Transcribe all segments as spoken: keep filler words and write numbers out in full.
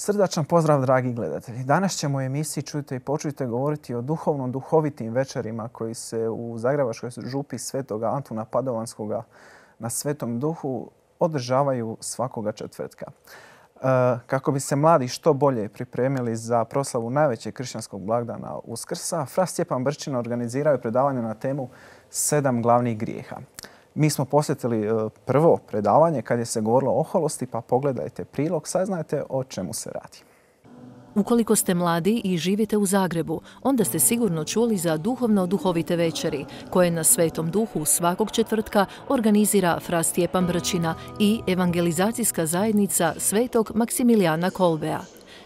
Srdačan pozdrav, dragi gledatelji. Danas ćemo u emisiji Čujte i počujte govoriti o duhovno-duhovitim večerima koji se u Zagrebačkoj župi Svetoga Antuna Padovanskoga na Svetom Duhu održavaju svakoga četvrtka. Kako bi se mladi što bolje pripremili za proslavu najvećeg kršćanskog blagdana Uskrsa, Fra Stjepan Brčina organiziraju predavanje na temu Sedam glavnih grijeha. Mi smo posjetili prvo predavanje kad je se govorilo o oholosti, pa pogledajte prilog, saznajte o čemu se radi. Ukoliko ste mladi i živite u Zagrebu, onda ste sigurno čuli za duhovno-duhovite večeri, koje na Svetom Duhu svakog četvrtka organizira Fra Stjepan Brčina i evangelizacijska zajednica Svetog Maksimilijana Kolbea.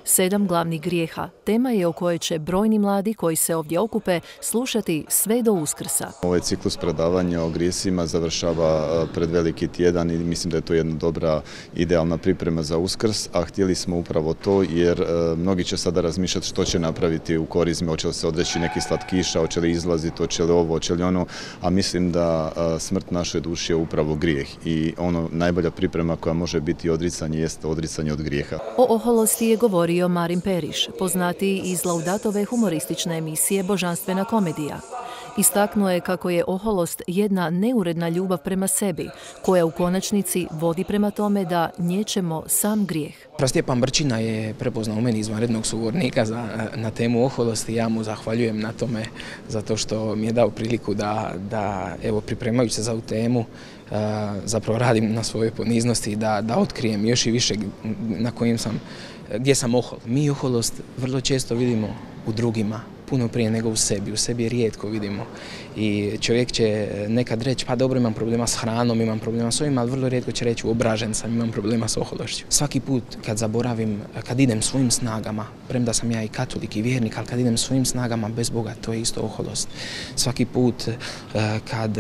Sedam glavnih grijeha tema je o kojoj će brojni mladi koji se ovdje okupe slušati sve do Uskrsa. Ovaj ciklus predavanja o grijesima završava pred Veliki tjedan i mislim da je to jedna dobra, idealna priprema za Uskrs, a htjeli smo upravo to jer mnogi će sada razmišljati što će napraviti u korizmi, hoće li se odreći neki slatkiša, hoće li izlaziti, hoće li ovo, hoće li ono, a mislim da smrt naše duše je upravo grijeh i ono najbolja priprema koja može biti odricanje jeste odricanje od grijeha. O oholosti je govorio Marin Periš, poznatiji iz Laudatove humoristične emisije Božanstvena komedija. Istaknuo je kako je oholost jedna neuredna ljubav prema sebi, koja u konačnici vodi prema tome da niječemo sam grijeh. Fra Stjepan Brčina je prepoznao u meni izvanrednog sugovornika za, na temu oholosti. Ja mu zahvaljujem na tome zato što mi je dao priliku da, da evo, pripremajući se za ovu temu, zapravo radim na svojoj poniznosti, da, da otkrijem još i više na kojim sam, gdje sam ohol. Mi oholost vrlo često vidimo u drugima, puno prije nego u sebi. U sebi je rijetko vidimo i čovjek će nekad reći pa dobro, imam problema s hranom, imam problema s ovim, ali vrlo rijetko će reći obražen sam, imam problema s ohološću. Svaki put kad zaboravim, kad idem svojim snagama, premda sam ja i katolik i vjernik, ali kad idem svojim snagama bez Boga, to je isto oholost. Svaki put kad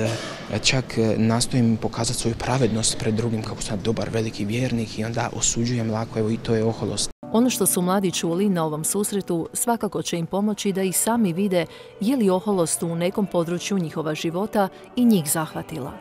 čak nastojim pokazati svoju pravednost pred drugim kako sam dobar veliki vjernik i onda osuđujem lako, evo i to je oholost. Ono što su mladi čuli na ovom susretu svakako će im pomoći da i sami vide je li oholost u nekom području njihova života i njih zahvatila.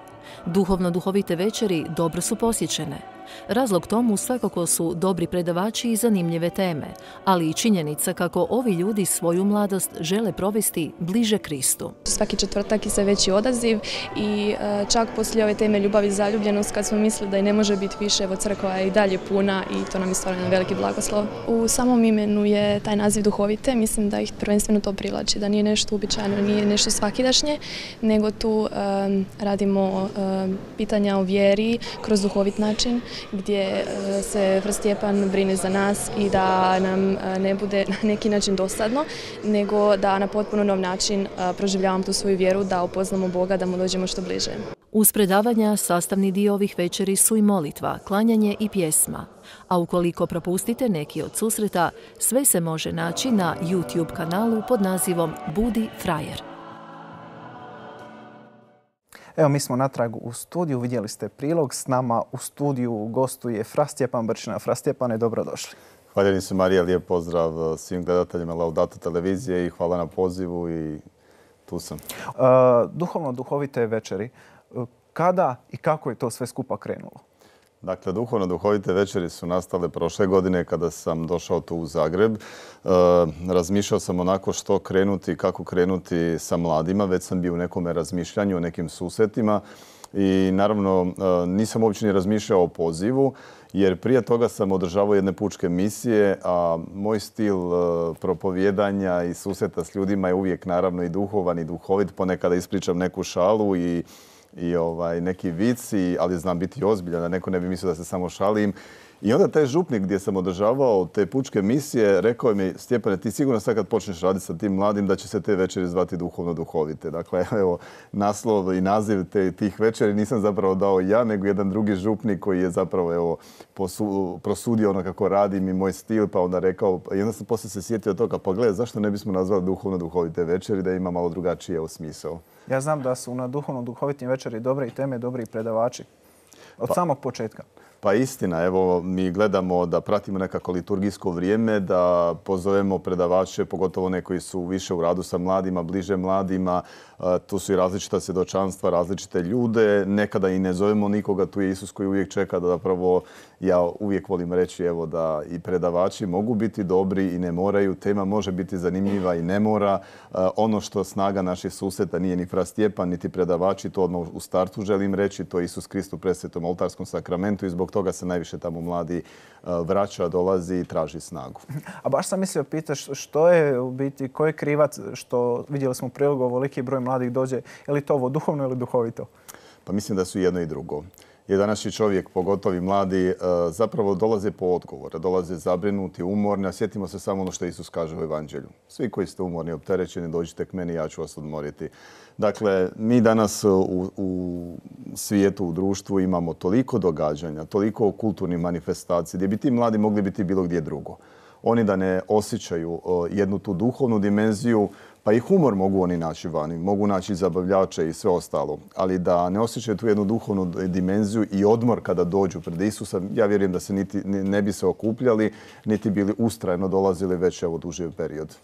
Duhovno-duhovite večeri dobro su posjećene. Razlog tomu svakako su dobri predavači i zanimljive teme, ali i činjenica kako ovi ljudi svoju mladost žele provesti bliže Kristu. Svaki četvrtak je sve veći odaziv i čak poslije ove teme ljubav i zaljubljenost, kad smo mislili da i ne može biti više, evo crkva je i dalje puna i to nam je stvarno jedan veliki blagoslov. U samom imenu je taj naziv duhovite, mislim da ih prvenstveno to privlači, da nije nešto uobičajeno, nije nešto svakidašnje, nego tu um, radimo um, pitanja o vjeri kroz duhovit način, gdje se Fra Stjepan brine za nas i da nam ne bude na neki način dosadno, nego da na potpuno nov način proživljavamo tu svoju vjeru, da upoznamo Boga, da mu dođemo što bliže. Uz predavanja sastavni dio ovih večeri su i molitva, klanjanje i pjesma. A ukoliko propustite neki od susreta, sve se može naći na YouTube kanalu pod nazivom Budi frajer. Evo, mi smo natrag u studiju, vidjeli ste prilog. S nama u studiju gostuje Fra Stjepan Brčina. Fra Stjepane, dobrodošli. Hvala se, Marija, lijep pozdrav svim gledateljima Laudato televizije i hvala na pozivu i tu sam. Uh, duhovno-duhovite večeri. Kada i kako je to sve skupa krenulo? Dakle, duhovno-duhovite večeri su nastale prošle godine kada sam došao tu u Zagreb. E, razmišljao sam onako što krenuti, kako krenuti sa mladima. Već sam bio u nekome razmišljanju, o nekim susretima i naravno e, nisam uopće ni razmišljao o pozivu jer prije toga sam održavao jedne pučke misije, a moj stil e, propovijedanja i susreta s ljudima je uvijek naravno i duhovan i duhovit. Ponekada ispričam neku šalu i i ovaj, neki vic, ali znam biti ozbiljan, da neko ne bi mislio da se samo šalim. I onda taj župnik gdje sam održavao te pučke misije rekao mi, Stjepane, ti sigurno sad kad počneš raditi sa tim mladim da će se te večeri zvati duhovno-duhovite. Dakle, evo, naslov i naziv te, tih večeri nisam zapravo dao ja, nego jedan drugi župnik koji je zapravo evo, posu, prosudio ono kako radim i moj stil, pa onda rekao, i onda sam poslije se sjetio toga, pa gledaj, zašto ne bismo nazvali duhovno-duhovite večeri, da ima malo drugačije smisao. Ja znam da su na duhovno-duhovitim večeri dobre i teme, dobri predavači. Od pa, samog početka. Pa istina, evo mi gledamo da pratimo nekako liturgijsko vrijeme, da pozovemo predavače, pogotovo one koji su više u radu sa mladima, bliže mladima. Tu su i različita svjedočanstva, različite ljude. Nekada i ne zovemo nikoga, tu je Isus koji uvijek čeka da zapravo, ja uvijek volim reći evo da i predavači mogu biti dobri i ne moraju. Tema može biti zanimljiva i ne mora. Ono što snaga naših susreta nije ni fra Stjepan, niti predavači, to odmah u startu želim reći, to je Isus Krist u presvetom oltarskom sakramentu i zbog toga se najviše tamo mladi vraća, dolazi i traži snagu. A baš sam mislio pitati što je u biti, ko je krivac što vidjeli smo u prilogu ovoliki broj mladih dođe, je li to ovo duhovno ili duhovito? Pa mislim da su jedno i drugo. Jer današnji čovjek, pogotovo i mladi, zapravo dolaze po odgovore, dolaze zabrinuti, umorni, a sjetimo se samo ono što Isus kaže u Evanđelju. Svi koji ste umorni, opterećeni, dođite k meni, ja ću vas odmoriti. Dakle, mi danas u, u svijetu, u društvu imamo toliko događanja, toliko kulturnih manifestacija gdje bi ti mladi mogli biti bilo gdje drugo. Oni da ne osjećaju jednu tu duhovnu dimenziju, pa i humor mogu oni naći vani, mogu naći zabavljače i sve ostalo, ali da ne osjećaju tu jednu duhovnu dimenziju i odmor kada dođu pred Isusa, ja vjerujem da se niti, ne bi se okupljali, niti bili ustrajno dolazili već evo duži period.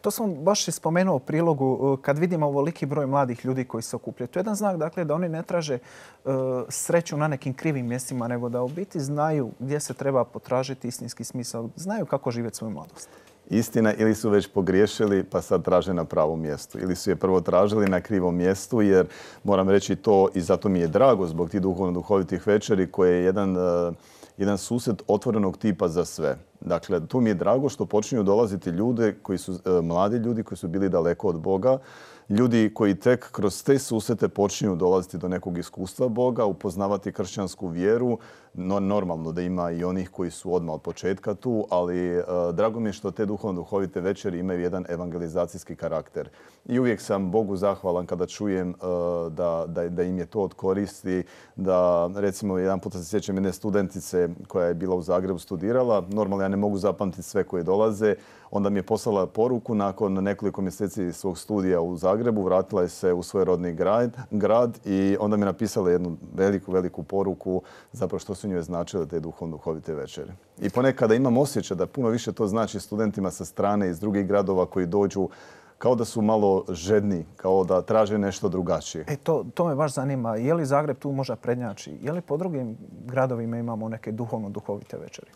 To sam baš spomenuo u prilogu kad vidimo ovoliki broj mladih ljudi koji se okupljaju. To je jedan znak dakle, da oni ne traže uh, sreću na nekim krivim mjestima, nego da u biti znaju gdje se treba potražiti istinski smisao, znaju kako živjeti svoju mladost. Istina, ili su već pogriješili pa sad traže na pravom mjestu. Ili su je prvo tražili na krivom mjestu jer moram reći to i zato mi je drago zbog tih duhovno-duhovitih večeri koje je jedan, uh, jedan susret otvorenog tipa za sve. Dakle, tu mi je drago što počinju dolaziti ljude koji su uh, mladi ljudi koji su bili daleko od Boga, ljudi koji tek kroz te susrete počinju dolaziti do nekog iskustva Boga, upoznavati kršćansku vjeru. No, normalno da ima i onih koji su odmah od početka tu, ali uh, drago mi je što te duhovno-duhovite večeri imaju jedan evangelizacijski karakter. I uvijek sam Bogu zahvalan kada čujem uh, da, da, da im je to od koristi. Da, recimo, jedan puta se sjećam jedne studentice koja je bila u Zagrebu studirala. Normalno, ja ne mogu zapamtiti sve koje dolaze. Onda mi je poslala poruku nakon nekoliko mjeseci svog studija u Zagrebu. Vratila je se u svoj rodni grad, grad i onda mi je napisala jednu veliku, veliku poruku zapravo što su njoj značile te duhovno-duhovite večere. I ponekada imam osjećaj da puno više to znači studentima sa strane iz drugih gradova koji dođu kao da su malo žedni, kao da traže nešto drugačije. E, to, to me baš zanima. Je li Zagreb tu možda prednjači? Je li po drugim gradovima imamo neke duhovno-duhovite večeri?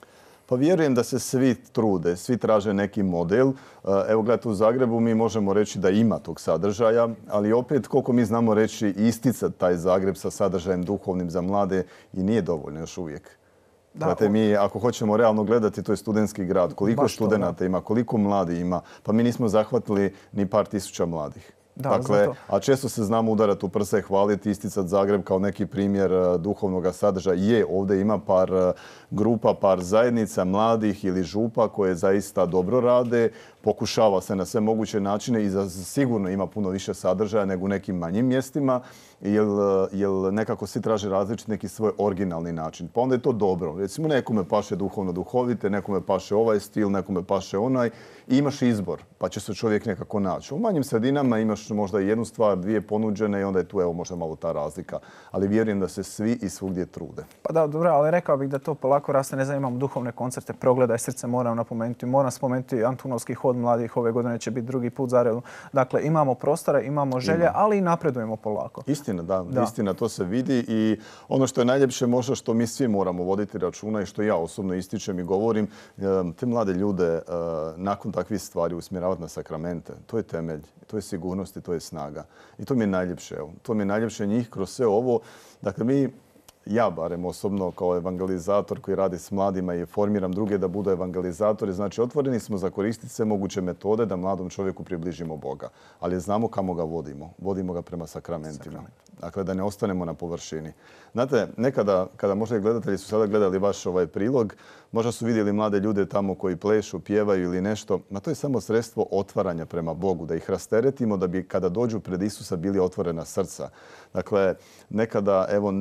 Pa vjerujem da se svi trude, svi traže neki model. Evo gledajte, u Zagrebu mi možemo reći da ima tog sadržaja, ali opet koliko mi znamo reći isticati taj Zagreb sa sadržajem duhovnim za mlade i nije dovoljno još uvijek. Da, Znate, mi ako hoćemo realno gledati, to je studentski grad. Koliko studenata ima, koliko mladi ima, pa mi nismo zahvatili ni par tisuća mladih. Da, dakle, a često se znamo udarati u prsa i hvaliti, isticati Zagreb kao neki primjer duhovnog sadržaja. Je, ovdje ima par grupa, par zajednica mladih ili župa koje zaista dobro rade, pokušava se na sve moguće načine i sigurno ima puno više sadržaja nego u nekim manjim mjestima, jer, jer nekako svi traže različiti neki svoj originalni način. Pa onda je to dobro. Recimo, nekome paše duhovno duhovite, nekome paše ovaj stil, nekome paše onaj i imaš izbor, pa će se čovjek nekako naći. U manjim sredinama imaš možda jednu stvar, dvije ponuđene i onda je tu evo možda malo ta razlika. Ali vjerujem da se svi i svugdje trude. Pa da, dobro, ali rekao bih da to polako raste. Ne znam, imamo duhovne koncerte, Progledaj srce, moram napomenuti. Moram spomenuti Antunovski hod mladih, ove godine će biti drugi put za redom. Dakle, imamo prostora, imamo želje, Ima. ali i napredujemo polako. Istina, da, da. Istina, to se vidi i ono što je najljepše možda što mi svi moramo voditi računa i što ja osobno ističem i govorim, te mlade ljude nakon takvih stvari usmjeravati na sakramente. To je temelj, to je sigurnost i to je snaga. I to mi je najljepše. Evo. To mi je najljepše njih kroz sve ovo. Dakle, mi ja barem osobno kao evangelizator koji radi s mladima i formiram druge da budu evangelizatori. Znači, otvoreni smo za koristiti sve moguće metode da mladom čovjeku približimo Boga. Ali znamo kamo ga vodimo. Vodimo ga prema sakramentima. Sakrament. Dakle, da ne ostanemo na površini. Znate, nekada, kada možda gledatelji su sada gledali vaš ovaj prilog, možda su vidjeli mlade ljude tamo koji plešu, pjevaju ili nešto. Ma to je samo sredstvo otvaranja prema Bogu, da ih rasteretimo da bi kada dođu pred Isusa bili otvorena srca. Dakle, nekada, evo,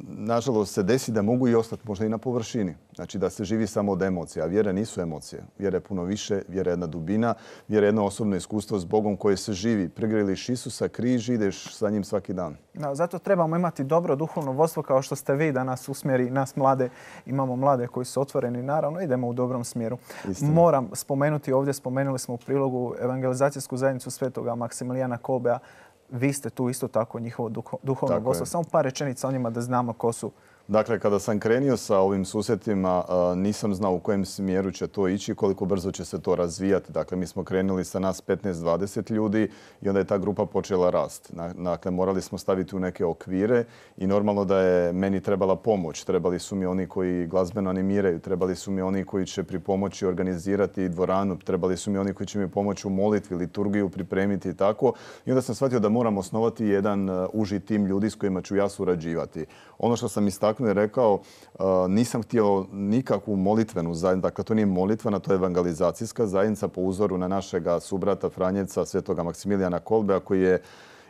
nažalost se desi da mogu i ostati možda i na površini. Znači da se živi samo od emocija. A vjere nisu emocije. Vjera je puno više, vjera je jedna dubina, vjera je jedno osobno iskustvo s Bogom koje se živi. Pregrliš Isusa, križ, ideš sa njim svaki dan. Da, zato trebamo imati dobro duhovno vodstvo kao što ste vi da nas usmjeri, nas mlade. Imamo mlade koji su otvoreni, naravno idemo u dobrom smjeru. Istina. Moram spomenuti ovdje, spomenuli smo u prilogu evangelizacijsku zajednicu Svetoga Maksimilijana Kolbea. Vi ste tu isto tako njihovo duhovno vodstvo. Samo par rečenica o njima da znamo ko su. Dakle, kada sam krenio sa ovim susretima, nisam znao u kojem smjeru će to ići i koliko brzo će se to razvijati. Dakle, mi smo krenuli sa nas petnaest dvadeset ljudi i onda je ta grupa počela rast. Dakle, morali smo staviti u neke okvire i normalno da je meni trebala pomoć. Trebali su mi oni koji glazbeno animiraju, trebali su mi oni koji će pri pomoći organizirati dvoranu, trebali su mi oni koji će mi pomoći u molitvi, liturgiju pripremiti i tako. I onda sam shvatio da moram osnovati jedan uži tim ljudi s kojima ću ja surađivati. Ono što sam istaknuo je rekao, uh, nisam htio nikakvu molitvenu zajednicu, dakle to nije molitvena, to je evangelizacijska zajednica po uzoru na našega subrata Franjevca, Svetoga Maksimilijana Kolbea, koji je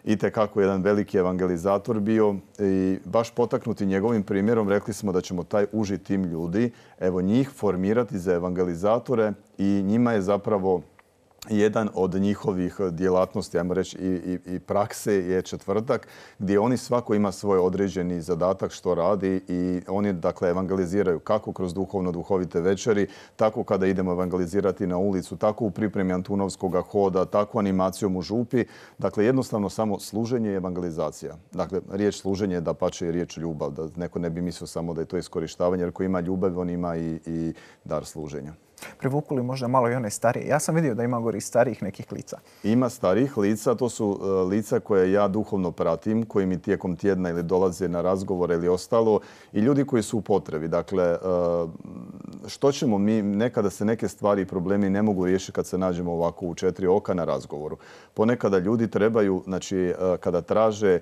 itekako jedan veliki evangelizator bio i baš potaknuti njegovim primjerom rekli smo da ćemo taj uži tim ljudi, evo njih formirati za evangelizatore i njima je zapravo jedan od njihovih djelatnosti, ajmo reći, i, i, i prakse je četvrtak, gdje oni svako ima svoj određeni zadatak što radi i oni dakle evangeliziraju kako kroz duhovno-duhovite večeri, tako kada idemo evangelizirati na ulicu, tako u pripremi Antunovskog hoda, tako animacijom u župi. Dakle, jednostavno samo služenje i evangelizacija. Dakle, riječ služenje je dapače i riječ ljubav, da neko ne bi mislio samo da je to iskorištavanje, jer ko ima ljubav, on ima i, i dar služenja. Privuku li možda malo i one starije? Ja sam vidio da ima gori starijih nekih lica. Ima starijih lica, to su uh, lica koje ja duhovno pratim, koji mi tijekom tjedna ili dolaze na razgovore ili ostalo i ljudi koji su u potrebi. Dakle, uh, što ćemo mi, nekada se neke stvari i problemi ne mogu riješiti kad se nađemo ovako u četiri oka na razgovoru. Ponekada ljudi trebaju, znači uh, kada traže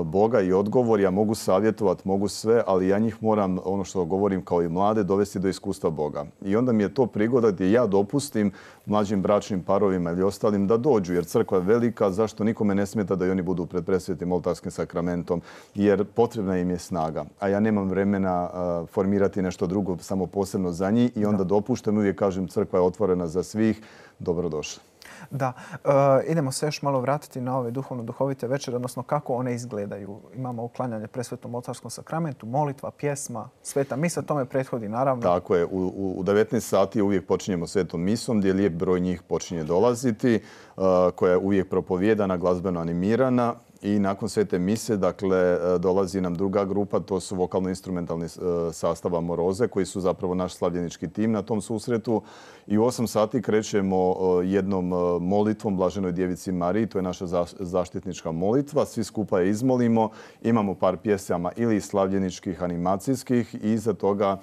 Boga i odgovor, ja mogu savjetovati, mogu sve, ali ja njih moram, ono što govorim kao i mlade, dovesti do iskustva Boga. I onda mi je to prigoda gdje ja dopustim mlađim bračnim parovima ili ostalim da dođu, jer crkva je velika, zašto nikome ne smeta da i oni budu pred presvetim oltarskim sakramentom, jer potrebna im je snaga. A ja nemam vremena uh, formirati nešto drugo samo posebno za njih i onda da. dopuštam, uvijek kažem crkva je otvorena za svih, dobrodošli. Da, e, idemo se još malo vratiti na ove duhovno-duhovite večere, odnosno kako one izgledaju. Imamo uklanjanje presvetom oltarskom sakramentu, molitva, pjesma, sveta misa, tome prethodi naravno. Tako je, u, u devetnaest sati uvijek počinjemo svetom misom gdje lijep broj njih počinje dolaziti, uh, koja je uvijek propovijedana, glazbeno animirana. I nakon svete mise, dakle, dolazi nam druga grupa, to su vokalno-instrumentalni sastav Amoroze, koji su zapravo naš slavljenički tim na tom susretu. I u osam sati krećemo jednom molitvom Blaženoj Djevici Mariji, to je naša zaštitnička molitva. Svi skupa je izmolimo, imamo par pjesama ili slavljeničkih, animacijskih i iza toga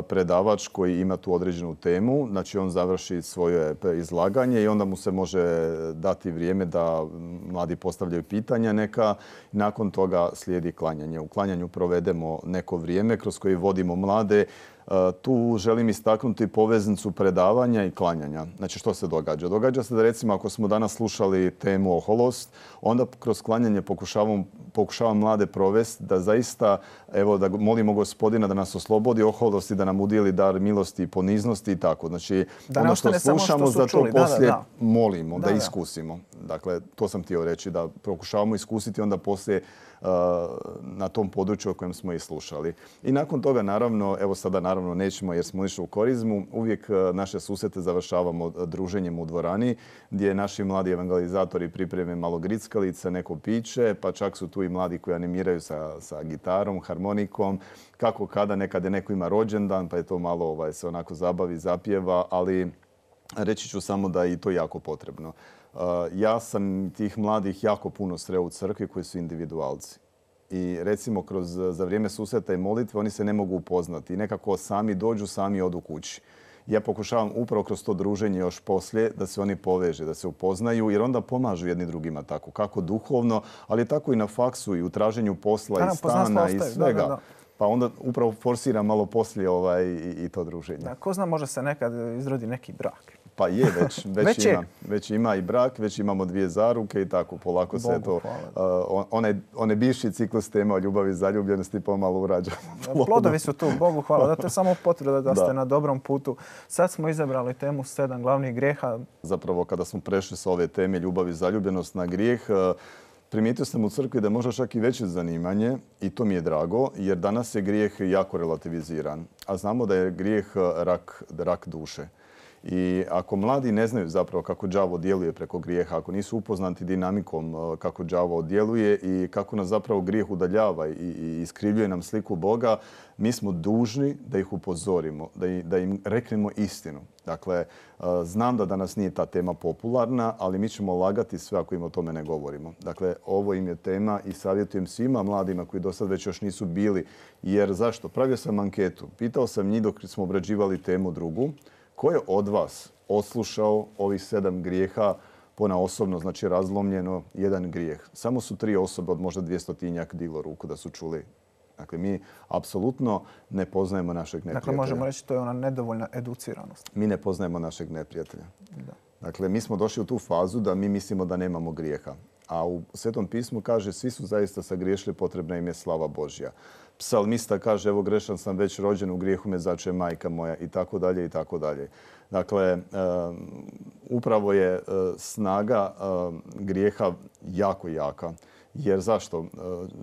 predavač koji ima tu određenu temu. Znači, on završi svoje izlaganje i onda mu se može dati vrijeme da mladi postavljaju pitanja neka. Nakon toga slijedi klanjanje. U klanjanju provedemo neko vrijeme kroz koje vodimo mlade. Tu želim istaknuti poveznicu predavanja i klanjanja. Znači, što se događa? Događa se da, recimo, ako smo danas slušali temu oholost, onda kroz klanjanje pokušavam, pokušavam mlade provesti da zaista, evo, da molimo Gospodina da nas oslobodi oholost i da nam udijeli dar milosti i poniznosti i tako. Znači, da ono što slušamo, što za to poslije da, da, da. molimo, da, da iskusimo. Dakle, to sam htio reći, da pokušavamo iskusiti onda poslije na tom području o kojem smo i slušali. I nakon toga, naravno, evo sada naravno nećemo jer smo išli u korizmu, uvijek naše susrete završavamo druženjem u dvorani gdje naši mladi evangelizatori pripreme malo grickalice, neko piće, pa čak su tu i mladi koji animiraju sa, sa gitarom, harmonikom, kako kada, nekada neko ima rođendan, pa je to malo ovaj, se onako zabavi, zapjeva, ali reći ću samo da je i to jako potrebno. Uh, ja sam tih mladih jako puno sreo u crkvi koji su individualci. I recimo kroz, za vrijeme susreta i molitve oni se ne mogu upoznati. I nekako sami dođu, sami odu kući. Ja pokušavam upravo kroz to druženje još poslije da se oni poveže, da se upoznaju, jer onda pomažu jedni drugima tako. Kako duhovno, ali tako i na faksu i u traženju posla da, i stana i svega. Da, da, da. Pa onda upravo forsira malo poslije ovaj, i, i to druženje. Da, ko zna, može se nekad izrodi neki brak. Pa je, već, već, Već ima. je. Već ima i brak, već imamo dvije zaruke i tako polako se Bogu to... hvala. Uh, onaj, onaj bivši ciklus tema o ljubavi i zaljubljenosti pomalo urađamo. Plodovi su tu, Bogu hvala. Da, to je samo potvrda da ste Da. na dobrom putu. Sad smo izabrali temu sedam glavnih grijeha. Zapravo kada smo prešli sa ove teme ljubav i zaljubljenost na grijeh, uh, primijetio sam u crkvi da je možda čak i veće zanimanje i to mi je drago jer danas je grijeh jako relativiziran. A znamo da je grijeh rak, rak duše. I ako mladi ne znaju zapravo kako đavo djeluje preko grijeha, ako nisu upoznati dinamikom kako đavo djeluje i kako nas zapravo grijeh udaljava i, i iskrivljuje nam sliku Boga, mi smo dužni da ih upozorimo, da, i, da im reknemo istinu. Dakle, znam da danas nije ta tema popularna, ali mi ćemo lagati sve ako im o tome ne govorimo. Dakle, ovo im je tema i savjetujem svima mladima koji do sad već još nisu bili. Jer zašto? Pravio sam anketu. Pitao sam njih dok smo obrađivali temu drugu. Ko je od vas odslušao ovih sedam grijeha ponaosobno, znači razlomljeno jedan grijeh? Samo su tri osobe od možda dvjestotinjak diglo ruku da su čuli. Dakle, mi apsolutno ne poznajemo našeg neprijatelja. Dakle, možemo reći to je ona nedovoljna educiranost. Mi ne poznajemo našeg neprijatelja. Da. Dakle, mi smo došli u tu fazu da mi mislimo da nemamo grijeha. A u Svetom pismu kaže svi su zaista sagriješili, potrebna im je slava Božja. Psalmista kaže evo grešan sam već rođen, u grijehu me začeje majka moja i tako dalje i tako dalje. Dakle, um, upravo je uh, snaga uh, grijeha jako jaka. Jer zašto? Uh,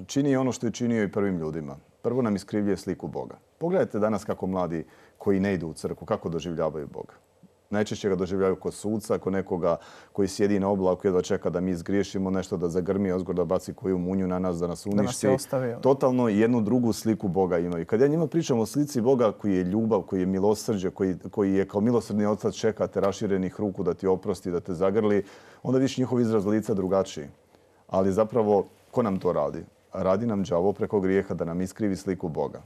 čini ono što je činio i prvim ljudima. Prvo nam iskrivljuje sliku Boga. Pogledajte danas kako mladi koji ne idu u crkvu, kako doživljavaju Boga. Najčešće ga doživljaju kod suca, kod nekoga koji sjedi na oblaku, jedva čeka da mi izgriješimo nešto, da zagrmi ozgor, da baci koju munju na nas, da nas uništi. Da nas je ostavio. Totalno jednu drugu sliku Boga imaju. Kad ja njima pričam o slici Boga koji je ljubav, koji je milosrđe, koji, koji je kao milosrdni otac čeka te raširenih ruku da ti oprosti, da te zagrli, onda viš njihov izraz lica drugačiji. Ali zapravo, ko nam to radi? Radi nam đavo preko grijeha da nam iskrivi sliku Boga.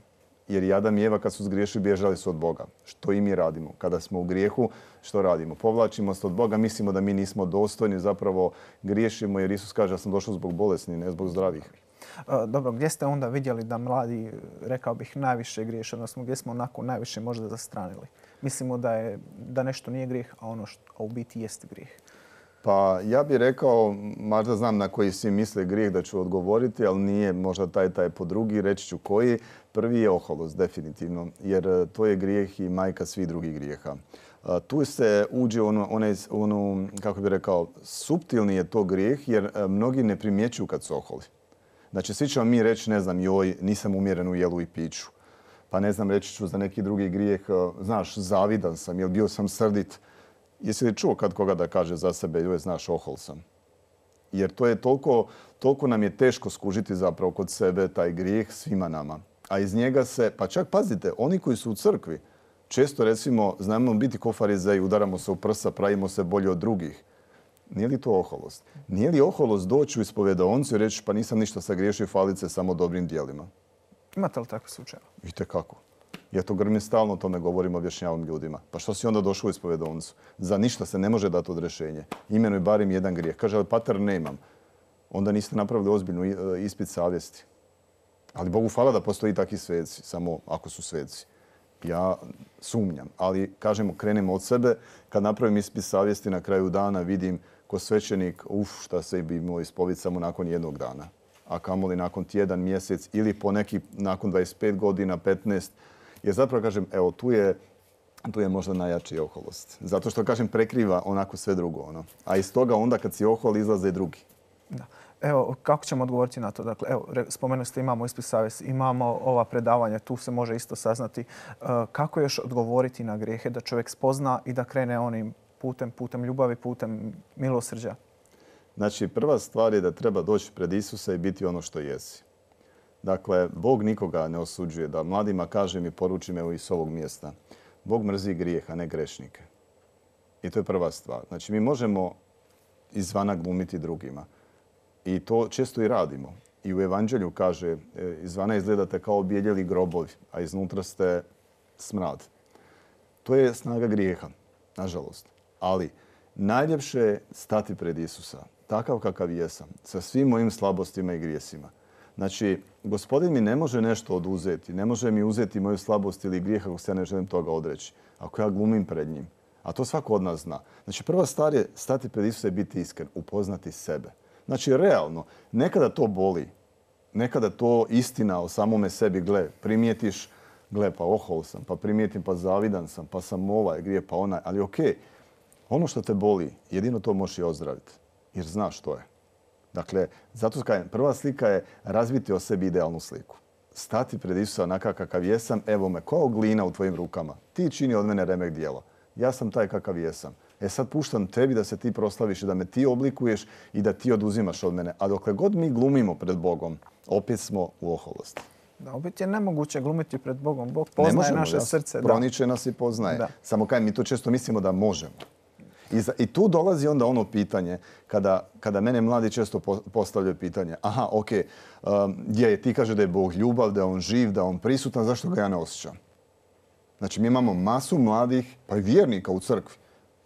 Jer i Adam i Eva kad su zgriješili bježali su od Boga. Što i mi radimo? Kada smo u grijehu, što radimo? Povlačimo se od Boga, mislimo da mi nismo dostojni, zapravo griješimo jer Isus kaže da sam došao zbog bolesnih, ne zbog zdravih. Dobro, gdje ste onda vidjeli da mladi, rekao bih, najviše griješe, odnosno gdje smo onako najviše možda zastranili? Mislimo da, je, da nešto nije grijeh, a ono što a u biti jest grijeh. Pa ja bih rekao, možda znam na koji svi misle grijeh da ću odgovoriti, ali nije možda taj taj po drugi, reći ću koji. Prvi je oholost, definitivno, jer to je grijeh i majka svih drugih grijeha. Tu se uđe ono, onaj, ono, kako bih rekao, suptilni je to grijeh jer mnogi ne primjećuju kad su oholi. Znači svi ćemo mi reći, ne znam, joj, nisam umjeren u jelu i piću. Pa ne znam, reći ću za neki drugi grijeh, znaš, zavidan sam, jer bio sam srdit. Jesi li čuo kad koga da kaže za sebe, joj, znaš, ohol sam? Jer to je toliko, toliko nam je teško skužiti zapravo kod sebe taj grijeh svima nama. A iz njega se, pa čak pazite, oni koji su u crkvi, često recimo znamo biti ko farizeji, udaramo se u prsa, pravimo se bolje od drugih. Nije li to oholost? Nije li oholost doći u ispovedaonicu i reći pa nisam ništa sagriješio, falit se samo dobrim djelima? Imate li takve slučajeve? Itekako. Ja to grmim stalno o tome govorim, objašnjavam ljudima. Pa što si onda došao u ispovedonicu? Za ništa se ne može dati odrešenje. Imenuj barem jedan grijeh. Kaže, ali pater nemam. Onda niste napravili ozbiljnu ispit savjesti. Ali Bogu hvala da postoji takvi sveci, samo ako su sveci. Ja sumnjam, ali kažemo, krenemo od sebe. Kad napravim ispit savjesti na kraju dana, vidim ko svećenik, uf, šta se bi imao ispovjediti samo nakon jednog dana. A kamoli nakon tjedan, mjesec ili po neki nakon dvadeset pet godina, petnaest. Jer zapravo kažem, evo, tu je, tu je možda najjači oholost. Zato što, kažem, prekriva onako sve drugo. Ono. A iz toga onda kad si ohol izlaze i drugi. Da. Evo, kako ćemo odgovoriti na to? Dakle, evo, spomenuli ste imamo ispit savjesti, imamo ova predavanja, tu se može isto saznati. Uh, kako još odgovoriti na grijehe da čovjek spozna i da krene onim putem, putem ljubavi, putem milosrđa? Znači, prva stvar je da treba doći pred Isusa i biti ono što jesi. Dakle, Bog nikoga ne osuđuje. Da mladima kažem i poručim evo iz ovog mjesta. Bog mrzi grijeh, a ne grešnike. I to je prva stvar. Znači, mi možemo izvana glumiti drugima. I to često i radimo. I u Evanđelju kaže, izvana izgledate kao objeljeli grobovi, a iznutra ste smrad. To je snaga grijeha, nažalost. Ali najljepše je stati pred Isusa, takav kakav jesam, sa svim mojim slabostima i grijesima. Znači, Gospodin mi ne može nešto oduzeti, ne može mi uzeti moju slabost ili grijeh ako se ja ne želim toga odreći. Ako ja glumim pred njim, A to svako od nas zna. Znači, prva stvar je stati pred Isusa i biti iskren, upoznati sebe. Znači, realno, nekada to boli, nekada to istina o samome sebi, gle, primijetiš, gle, pa ohol sam, pa primijetim, pa zavidan sam, pa sam ovaj grije, pa onaj, ali okej, ono što te boli, jedino to možeš i ozdraviti, jer znaš što je. Dakle, zato kažem, prva slika je razviti o sebi idealnu sliku. Stati pred Isusa onakav kakav jesam, evo me, kao glina u tvojim rukama. Ti čini od mene remek djela. Ja sam taj kakav jesam. E sad puštam tebi da se ti proslaviš i da me ti oblikuješ i da ti oduzimaš od mene. A dokle god mi glumimo pred Bogom, opet smo u oholosti. Da, opet je nemoguće glumiti pred Bogom. Bog poznaje ne možemo, naše ja, srce. Proniče nas i poznaje. Da. Samo kaj mi to često mislimo da možemo. I, za, I tu dolazi onda ono pitanje, kada, kada mene mladi često postavljaju pitanje, aha, ok, um, je, ti kaže da je Bog ljubav, da je on živ, da je on prisutan, zašto ga ja ne osjećam? Znači, mi imamo masu mladih, pa i vjernika u crkvi.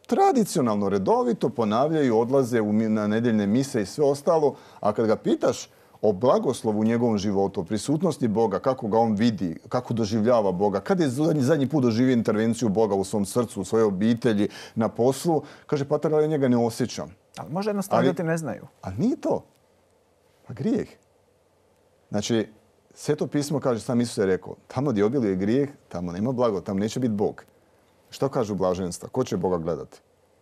Tradicionalno, redovito ponavljaju, odlaze u, na nedjeljne mise i sve ostalo, a kad ga pitaš o blagoslovu u njegovom životu, o prisutnosti Boga, kako ga on vidi, kako doživljava Boga, kad je zadnji, zadnji put doživio intervenciju Boga u svom srcu, u svojoj obitelji, na poslu, kaže, patar, ali ja njega ne osjećam. Ali može jednostavno ljudi ne znaju. A nije to. Pa grijeh. Znači, Sveto pismo kaže, sam Isus je rekao, tamo gdje obiluje grijeh, tamo nema blago, tamo neće biti Bog. Što kažu blaženstva? Ko će Boga gledati?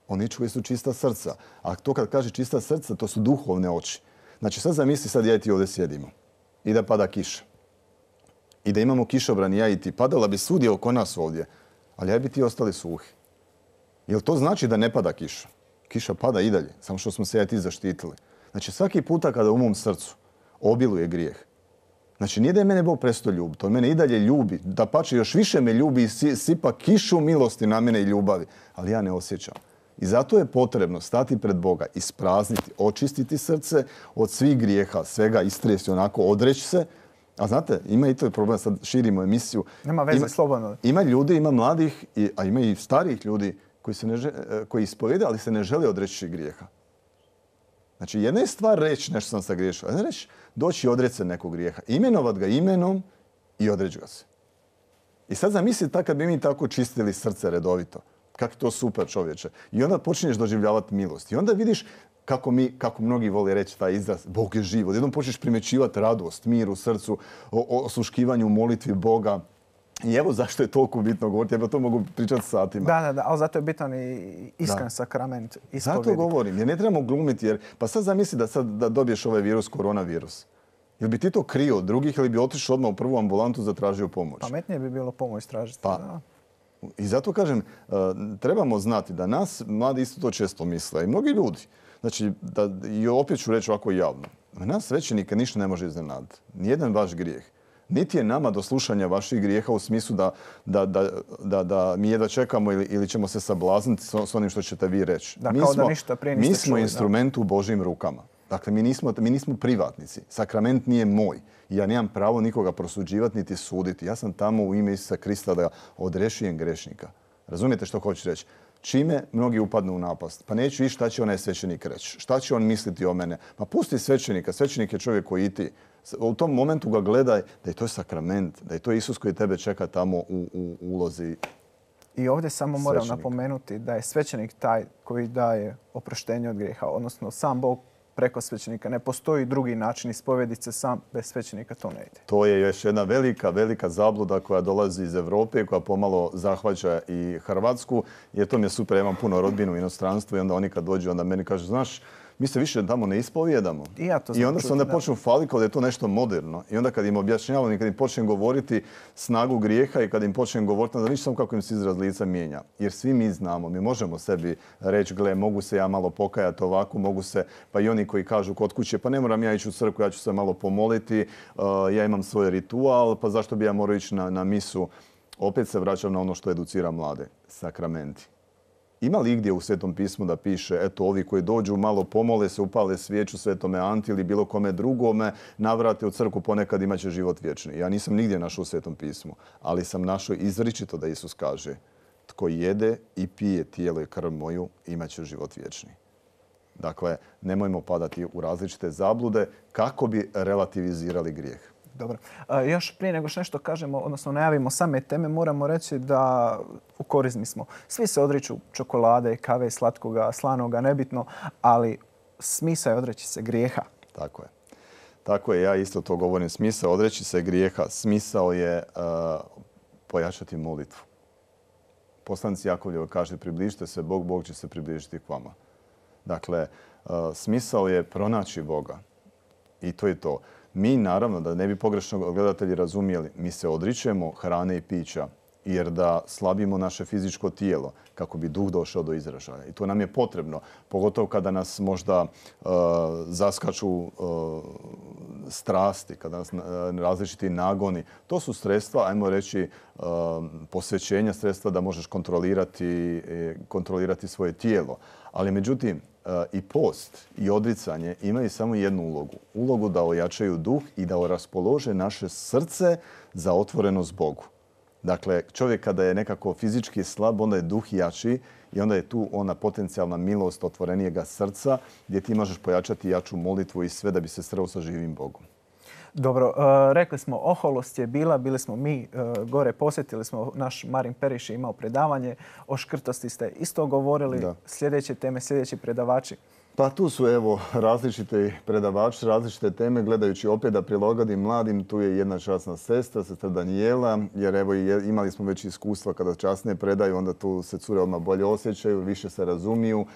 Oni koji su čista srca. A to kad kaže čista srca, to su duhovne oči. Znači sad zamisli, sad ja i ti ovdje sjedimo i da pada kiša. I da imamo kišobran ja i ti. Padala bi svugdje oko nas ovdje, ali ja bi ti ostali suhi. Jel to znači da ne pada kiša? Kiša pada i dalje, samo što smo se ja i ti zaštitili. Znači svaki puta kada u mom srcu obiluje grijeh, znači nije da je mene Bog prestao ljubiti, on mene i dalje ljubi, da pače još više me ljubi i sipa kišu milosti na mene i ljubavi, ali ja ne osjećam. I zato je potrebno stati pred Boga, isprazniti, očistiti srce od svih grijeha, svega istresti, onako odreći se. A znate, ima i to je problem, sad širimo emisiju. Nema veze, ima, slobodno. Ima ljudi, ima mladih, a ima i starijih ljudi koji, se ne žele, koji ispovjede, ali se ne žele odreći grijeha. Znači, jedna je stvar reći nešto sam sagriješio, a ne reći doći i odreći se nekog grijeha. Imenovat ga imenom i odreći ga se. I sad zamislite tako kad bi mi tako čistili srce redovito. Kako je to super, čovječe. I onda počinješ doživljavati milost. I onda vidiš kako mi, kako mnogi vole reći taj izraz, Bog je živ. Odjednom počneš primjećivati radost, mir u srcu, o, osluškivanju u molitvi Boga. I evo zašto je toliko bitno govoriti. Ja to mogu pričati satima. Da, da, da, ali zato je bitan i iskren da. sakrament ispovjedi. Zato govorim, jer ne trebamo glumiti. Jer, pa sad zamisli da sad da dobiješ ovaj virus, koronavirus. Jel bi ti to krio od drugih ili bi otišao odmah u prvu ambulantu zatražio pomoć? Pametnije bi bilo pomoć tražiti. Pa, da. I zato kažem, trebamo znati da nas mladi isto to često misle i mnogi ljudi. Znači, da, i opet ću reći ovako javno, nas svećenike ništa ne može iznenaditi. Nijedan vaš grijeh. Niti je nama do slušanja vaših grijeha u smislu da, da, da, da, da mi jedva čekamo ili, ili ćemo se sablazniti s, s onim što ćete vi reći. Da, mi kao smo, da ništa prije niste mi smo čuli, instrument da. u Božjim rukama. Dakle, mi nismo, mi nismo privatnici. Sakrament nije moj. Ja nemam pravo nikoga prosuđivati niti suditi. Ja sam tamo u ime Isusa Krista da odrešijem grešnika. Razumijete što hoću reći? Čime mnogi upadnu u napast? Pa neću i šta će onaj svećenik reći. Šta će on misliti o mene? Pa pusti svećenika. Svećenik je čovjek koji i ti. U tom momentu ga gledaj da je to sakrament, da je to Isus koji tebe čeka tamo u, u ulozi. I ovdje samo moram napomenuti da je svećenik taj koji daje oproštenje od grijeha, odnosno sam Bog preko svećenika. Ne postoji drugi način ispovjediti se sam, bez svećenika to ne ide. To je još jedna velika, velika zabluda koja dolazi iz Europe, koja pomalo zahvaća i Hrvatsku. Jer to mi je super, ja imam puno rodbinu u inostranstvu i onda oni kad dođu, onda meni kažu, znaš, mi se više tamo ne ispovijedamo. I, ja to I onda se onda počnu faliti kao da je to nešto moderno. I onda kad im objašnjavam i kad im počnem govoriti snagu grijeha i kad im počnem govoriti, onda vidiš samo kako im se izraz lica mijenja. Jer svi mi znamo, mi možemo sebi reći, gle, mogu se ja malo pokajati ovako, mogu se, pa i oni koji kažu kod kuće, pa ne moram ja ići u crkvu, ja ću se malo pomoliti, uh, ja imam svoj ritual, pa zašto bi ja morao ići na, na misu? Opet se vraćam na ono što educira mlade, sakramenti. Ima li igdje u Svetom pismu da piše, eto, ovi koji dođu malo pomole se, upale svijeću Svetome Anti ili bilo kome drugome, navrate u crkvu, ponekad imat će život vječni. Ja nisam nigdje našao u Svetom pismu, ali sam našao izričito da Isus kaže, tko jede i pije tijelo i krv moju, imat će život vječni. Dakle, nemojmo padati u različite zablude kako bi relativizirali grijeh. Dobro. Još prije nego što nešto kažemo, odnosno najavimo same teme, moramo reći da u korizmi smo. Svi se odriču čokolade, kave, slatkoga, slanoga, nebitno, ali smisao je odreći se grijeha. Tako je. Tako je, ja isto to govorim. Smisao odreći se grijeha. Smisao je uh, pojačati molitvu. Poslanici Jakovljevo kaže približite se Bog, Bog će se približiti k vama. Dakle, uh, smisao je pronaći Boga. I to je to. Mi, naravno, da ne bi pogrešno gledatelji razumijeli, mi se odričemo hrane i pića jer da slabimo naše fizičko tijelo kako bi duh došao do izražaja. I to nam je potrebno, pogotovo kada nas možda uh, zaskaču uh, strasti, kada nas uh, različiti nagoni. To su sredstva, ajmo reći, uh, posvećenja, sredstva da možeš kontrolirati, kontrolirati svoje tijelo. Ali međutim, i post i odricanje imaju samo jednu ulogu. Ulogu da ojačaju duh i da raspolože naše srce za otvorenost Bogu. Dakle, čovjek kada je nekako fizički slab, onda je duh jači i onda je tu ona potencijalna milost otvorenijega srca gdje ti možeš pojačati jaču molitvu i sve da bi se sreo sa živim Bogom. Dobro, rekli smo oholost je bila, bili smo mi gore, posjetili smo, naš Marin Periš je imao predavanje, o škrtosti ste isto govorili, da. Sljedeće teme, sljedeći predavači. Pa tu su evo različite predavači, različite teme, gledajući opet da prilagodim mladim, tu je jedna časna sestra, sestra Danijela, jer evo imali smo već iskustva kada časne predaju, onda tu se cure odmah bolje osjećaju, više se razumiju.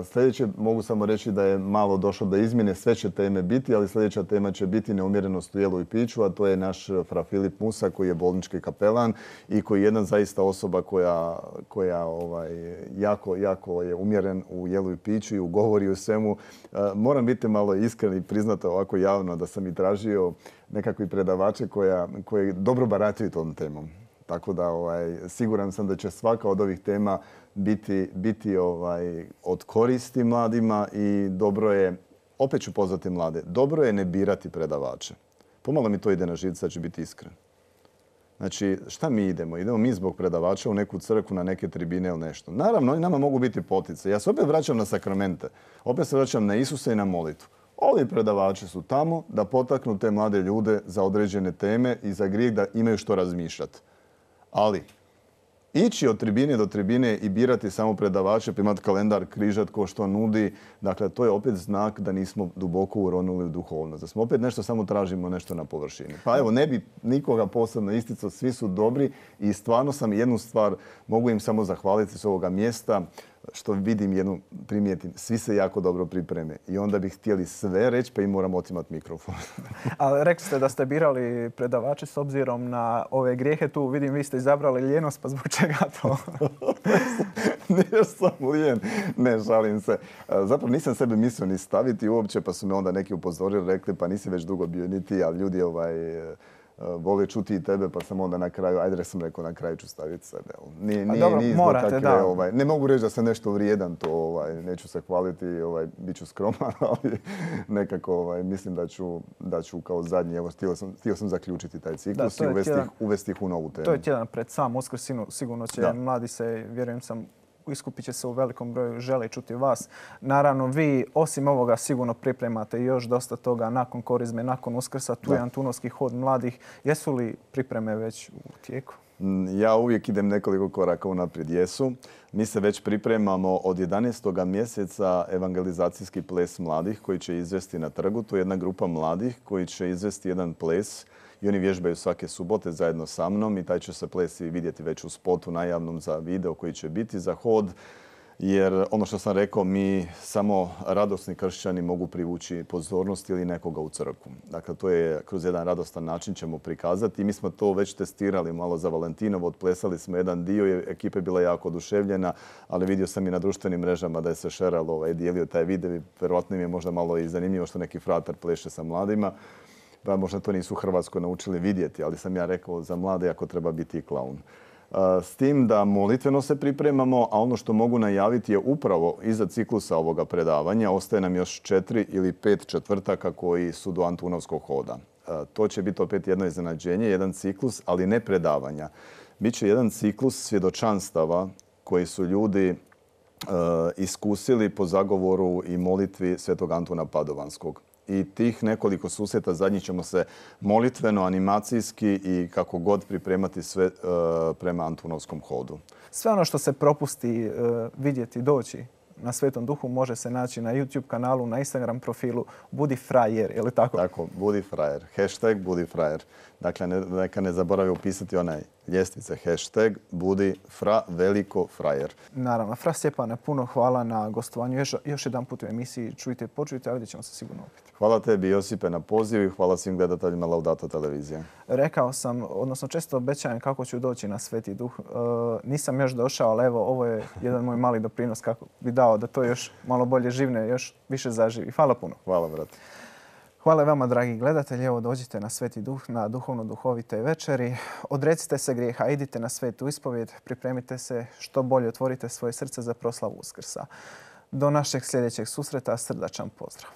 Sljedeće mogu samo reći da je malo došlo do izmjene, sve će teme biti, ali sljedeća tema će biti neumjerenost u jelu i piću, a to je naš fra Filip Musa koji je bolnički kapelan i koji je jedna zaista osoba koja, koja ovaj, jako, jako je umjeren u jelu i piću i u govori u svemu. Moram biti malo iskren i priznati ovako javno da sam i tražio nekakvi predavače koja, koji dobro barataju tom temom. Tako da ovaj, siguran sam da će svaka od ovih tema biti, biti ovaj, od koristi mladima i dobro je, opet ću pozvati mlade, dobro je ne birati predavače. Pomalo mi to ide na živce, da ću biti iskren. Znači, šta mi idemo? Idemo mi zbog predavača u neku crkvu, na neke tribine ili nešto. Naravno, oni nama mogu biti potice. Ja se opet vraćam na sakramente. Opet se vraćam na Isusa i na molitvu. Ovi predavači su tamo da potaknu te mlade ljude za određene teme i za grijeh da imaju što razmišljati. Ali ići od tribine do tribine i birati samo predavače, pa imati kalendar, križat ko što nudi, dakle to je opet znak da nismo duboko uronuli u duhovnost. Da smo opet nešto samo tražimo nešto na površini. Pa evo, ne bi nikoga posebno isticao, svi su dobri i stvarno sam jednu stvar, mogu im samo zahvaliti s ovoga mjesta, što vidim jednu, primijetim, svi se jako dobro pripreme i onda bi htjeli sve reći pa im moram otimati mikrofon. Ali rekli ste da ste birali predavače s obzirom na ove grijehe. Tu vidim vi ste izabrali lijenost, pa zbog čega to? Nije sam lijen, ne žalim se. Zapravo nisam sebe mislio ni staviti uopće pa su me onda neki upozorili, rekli pa nisi već dugo bio ni ti, ali ljudi ovaj... vole čuti i tebe, pa sam onda na kraju, ajde da sam rekao, na kraju ću staviti sebe. Nije, nije, dobro, nije morate, takve, da. Ovaj, ne mogu reći da sam nešto vrijedan, to ovaj, neću se hvaliti, ovaj, bit ću skroman, ali nekako ovaj, mislim da ću, da ću kao zadnji, evo, htio sam, htio sam zaključiti taj ciklus da, i uvesti, tjedan, uvesti ih u novu temu. To je tjedan pred sam Uskrs, sigurno će da. Mladi se, vjerujem sam, iskupit će se u velikom broju, žele čuti vas. Naravno, vi osim ovoga sigurno pripremate još dosta toga nakon korizme, nakon Uskrsa. Tu je Antunovski hod mladih. Jesu li pripreme već u tijeku? Ja uvijek idem nekoliko koraka unaprijed. Jesu. Mi se već pripremamo od jedanaestog mjeseca evangelizacijski ples mladih koji će izvesti na trgu. To je jedna grupa mladih koji će izvesti jedan ples i oni vježbaju svake subote zajedno sa mnom i taj će se ples i vidjeti već u spotu najavnom za video koji će biti za hod. Jer ono što sam rekao, mi samo radosni kršćani mogu privući pozornost ili nekoga u crkvu. Dakle, to je kroz jedan radostan način ćemo prikazati. I mi smo to već testirali malo za Valentinovo. Odplesali smo jedan dio i ekipa je bila jako oduševljena, ali vidio sam i na društvenim mrežama da je se šeralo, ovaj, dijelio taj video i vjerojatno im je možda malo i zanimljivo što neki fratar pleše sa mladima. Pa možda to nisu u Hrvatskoj naučili vidjeti, ali sam ja rekao za mlade ako treba biti i klaun. S tim da molitveno se pripremamo, a ono što mogu najaviti je upravo iza ciklusa ovoga predavanja. Ostaje nam još četiri ili pet četvrtaka koji su do Antunovskog hoda. To će biti opet jedno iznenađenje, jedan ciklus, ali ne predavanja. Biće jedan ciklus svjedočanstava koji su ljudi iskusili po zagovoru i molitvi svetog Antuna Padovanskog. I tih nekoliko susreta zadnjih ćemo se molitveno, animacijski i kako god pripremati sve prema Antunovskom hodu. Sve ono što se propusti vidjeti, doći na Svetom Duhu može se naći na YouTube kanalu, na Instagram profilu Budi frajer, je li tako? Tako, Budi frajer. Hashtag Budi frajer. Dakle, neka ne zaboravi upisati onaj ljestvice. Hashtag Budi fra veliko frajer. Naravno. Fra Stjepane, puno hvala na gostovanju. Još, još jedan put u emisiji Čujte i počujte, a vidjet ćemo se sigurno opet. Hvala tebi, Josipe, na pozivu i hvala svim gledateljima Laudato televizije. Rekao sam, odnosno često obećajem kako ću doći na Sveti Duh. E, nisam još došao, ali evo, ovo je jedan moj mali doprinos kako bi dao da to još malo bolje živne, još više zaživi. Hvala puno. Hvala, brate. Hvala vama, dragi gledatelji. Evo, dođite na Sveti Duh, na duhovno-duhovite večeri. Odrecite se grijeha, idite na svetu ispovjed, pripremite se što bolje, otvorite svoje srce za proslavu Uskrsa. Do našeg sljedećeg susreta, srdačan pozdrav.